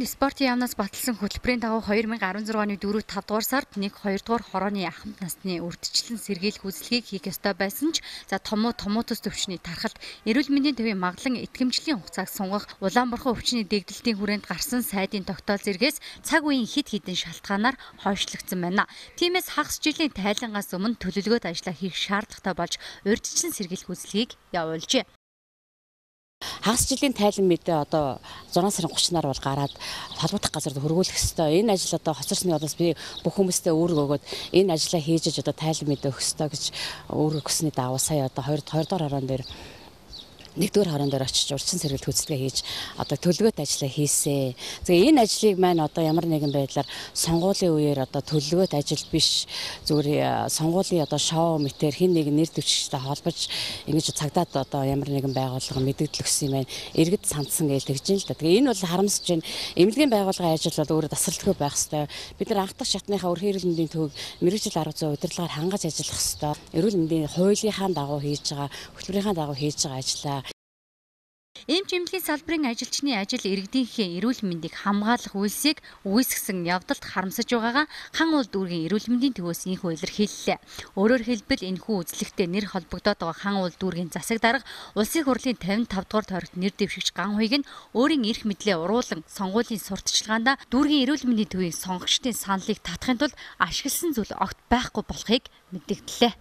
спортын яамнаас баталсан хөтөлбөрийн дагуу 2016 оны 4-5 дугаар сард 1-2 дугаар хорооны ахмад насны урьдчилан сэргийлэх үйлчлэгийг хийх ёстой байсан ч томоотос төвчний тархалт эрүүл мэндийн төвийн маглан итгэмжлийн хугацааг сунгах Улаанборхон өвчний дэгдэлтийн хүрээнд гарсан сайдын тогтоол зэргээс цаг үеийн хэд хэдэн шалтгаанаар хойшлогдсон байна. Тиймээс хагас жилийн тайлангаас өмнө төлөвлөгөөт ажиллаа хийх шаардлагатай болж урьдчилан сэргийлэх үйлчлэгийг явуулжээ. Хагас жилийн тайлан мэдээ одоо 6 сарын 30-наар бол гараад холбогдох газарт хөргүүлэх ёстой. Энэ ажил одоо хоцорсны удаас би бүх хүмүүстээ үүрэг өгөөд энэ ажлаа хийж одоо тайлан мэдээ өгөх ёстой гэж үүрэг өгсөний дагуу сая одоо 2 дугаар хорон дээр 1-р хорон дээр очиж урьдчилан сэргийлэх үйлчлэгээ хийж одоо төлөвлөгөөт ажиллаа хийсэн. Тэгээ энэ ажлыг маань одоо ямар нэгэн байдлаар сонгуулийн үеэр одоо төлөвлөгөөт ажил биш зүгээр сонгуулийн одоо шоу мэтэр хин нэг нэр дэвшигчтэй холбож ингэж цагдаад одоо ямар нэгэн байгууллага мэдээлэл өгсөн юм байна. Иргэд сандсан гэж тэгж юм л да. Тэгээ энэ бол харамсаж байна. Эмнэлгийн байгууллагын ажил бол өөрөө тасралтгүй байх ёстой. Бид нар анх дахь шатныхаа өрхийн эрүүл мэндийн төвийг мэргэжил 10% удирдлагаар хангаж ажиллах ёстой. Эрүүл мэндийн хуулийнхаа дагуу хийж байгаа, хөтөлбөрийнхаа дагуу хийж байгаа ажлаа Эмч эмнэлгийн салбарын ажилчны ажил иргэдийнхээ эрүүл мэндийг хамгаалах үйлсийг үүсгэсэн явдалд харамсаж байгаагаа хан улд дүүргийн эрүүл мэндийн төвөөс инхүү илэрхийллээ. Өөрөөр хэлбэл энэхүү үзлэгтээ нэр холбогдоод байгаа хан улд дүүргийн засаг дарга улсын хурлын 55 дугаар тойрогт нэр дэвшигч Ган Хуйг нь өөрийн эрх мэдлээ уруулан сонгуулийн сурталчилгаанд дүүргийн эрүүл мэндийн төвийн сонгогчдын саналыг татахын тулд ашигласан зүйл огт байхгүй болохыг мэдэгдлээ.